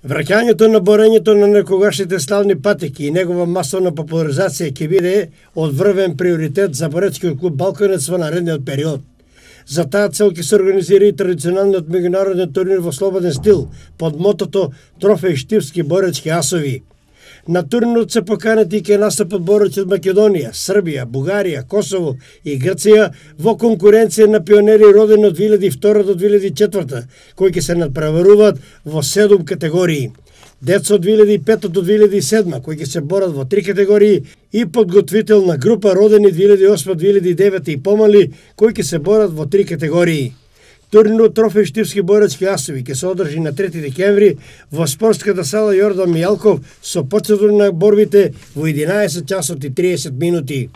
Враќањето на борењето на некогашните славни патеки и негова масовна популаризација ќе биде одврвен приоритет за боreckiот клуб Балканец во наредниот период. За таа цел ќе се организира и традиционалниот меѓународен турнир во слободен стил под мотото Трофеј Штипски боречки асови. На турнирот се поканети и ќе настапат бореци од Македонија, Србија, Бугарија, Косово и Грција во конкуренција на пионери родени од 2002 до 2004, кои ќе се надпреваруваат во 7 категории. Деца од 2005 до 2007, кои ќе се борат во 3 категории, и подготвителна група родени 2008-2009 и помали, кои ќе се борат во 3 категории. Турнирот Трофеј Штипски боречки асови ќе се одржи на 3 декември во спортската сала Јордан Мијалков со процедура на борбите во 11 часот и 30 минути.